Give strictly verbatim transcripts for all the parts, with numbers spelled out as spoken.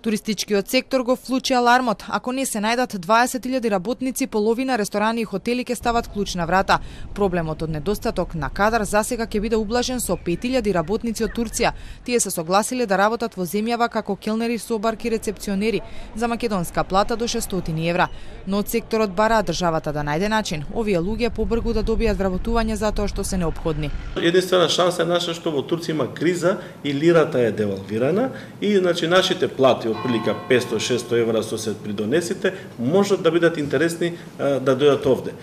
Туристичкиот сектор го вклучи алармот. Ако не се најдат дваесет илјади работници, половина ресторани и хотели ќе стават клуч на врата. Проблемот од недостаток на кадар засега ќе биде ублажен со пет илјади работници од Турција. Тие се согласиле да работат во земјава како келнери, собарки, рецепционери за македонска плата до шестстотини евра. Но од секторот бараат државата да најде начин овие луѓе побрзо да добијат вработување затоа што се неопходни. Единствена шанса е наша што во Турција има криза и лирата е девалвирана и значи нашите плати отприлика петстотини до шестстотини евра со се придонесите можат да бидат интересни да дојдат овде.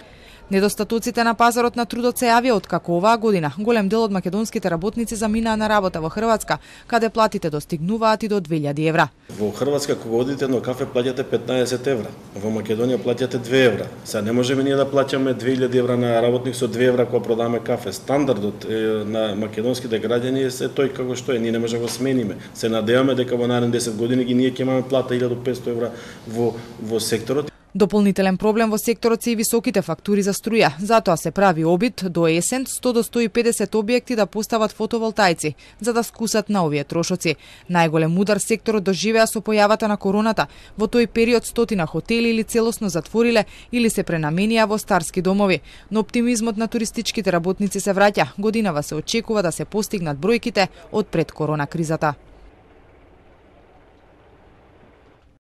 Недостатоците на пазарот на трудот се јавија откако оваа година голем дел од македонските работници заминаа на работа во Хрватска, каде платите достигнуваат и до две илјади евра. Во Хрватска кога одите на кафе плаќате петнаесет евра, во Македонија плаќате две евра. Сега не можеме ние да плаќаме две илјади евра на работник со две евра кога продаваме кафе. Стандардот е, на македонските граѓани е се тој како што е, ние не можеме да го смениме. Се надеваме дека во наредни десет години ги ние ќе имаме плата илјада и петстотини евра во во секторот. Дополнителен проблем во секторот се и високите фактури за струја. Затоа се прави обид до есен сто до сто и педесет објекти да постават фотоволтаици, за да скусат на овие трошоци. Најголем удар секторот доживеа со појавата на короната. Во тој период стотина хотели или целосно затвориле или се пренаменија во старски домови. Но оптимизмот на туристичките работници се враќа. Годинава се очекува да се постигнат бројките од пред корона кризата.